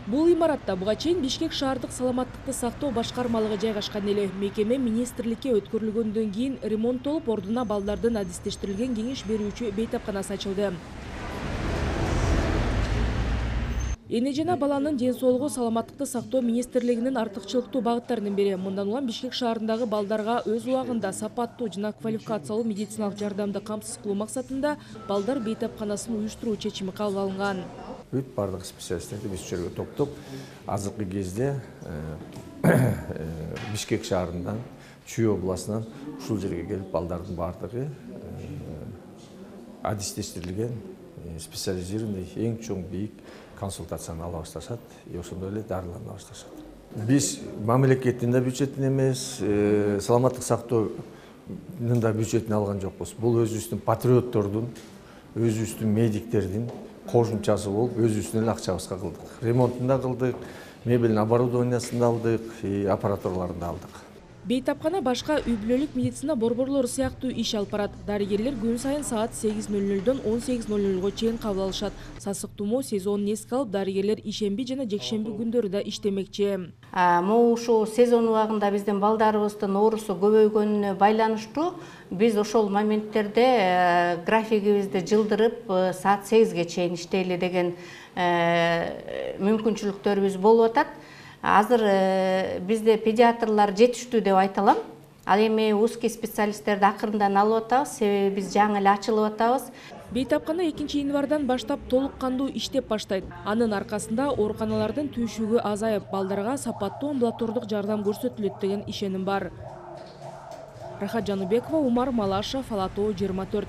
Бул имаратта буга чейин Бишкек шаардык саламаттыкты сактоо башкармалыгы жайгашкан эле. Мекеме министрликке өткөрүлгөндөн кийин ремонттолуп, ордуна балдардын адистештирилген кеңеш берүүчү бейтапканасы ачылды. Эне жана баланын ден соолугу саламаттыкты сактоо министрлигинин артыкчылыктуу багыттарынын бири. Мындан улам Бишкек шаарындагы балдарга өз убагында сапаттуу жана квалификациялуу медициналык жардамды камсыз кылуу максатында балдар бейтапканасын уюштуруу чечими кабыл алынган. Бүт бардык специалисттерди биз жерге топтоп, азыркы кезде Бишкек шаарынан, Чүй областынан ушул жерге келип балдардын бардыгы адистештирилген специализированный эң чоң бийик консультацияны ала башташат, ошондой эле дарылана башташат. Биз мамлекеттин да бюджетин эмес, саламаттык сактоонун да бюджетин алган жокпуз. Бул өзүбүздүн патриоттордун, өзүбүздүн медиктердин кошумчасы болуп, өзүбүздүн эле акчабызга кылдык. Ремонтун да кылдык, мебелин оборудованиясын да алдык, аппаратураларын да алдык. Бейтапкана башка үй-бүлөлүк медицина борборлору сыяктуу иш алып барат. Дарыгерлер күн сайын саат 8:00дөн 18:00га чейин кабыл алышат. Сасык тумоо сезонун эске алып, дарыгерлер ишемби жана жекшемби күндөрү да иштемекчи. Могу ушул сезон убагында биздин балдарыбыздын оорусу көбөйгөнүнө байланыштуу биз ошол моменттерде графигибизди жылдырып саат 8ге чейин иштейли деген мүмкүнчүлүктөрүбүз болуп атат. Азыр бизде педиатрлар жетиштүү деп айта алам. Ал эми узкий специалисттерди акырындан алып атабыз, себеби биз жаңы эле ачылып атабыз. Бейтапкана 2-январдан баштап толук кандуу иштеп баштайт. Анын аркасында ооруканалардын түйшүгү азайып, балдарга сапаттуу амбулатордук жардам көрсөтүлөт деген ишеним бар. Рахат Жаныбекова, Умар Малашев, Ала Тоо 24.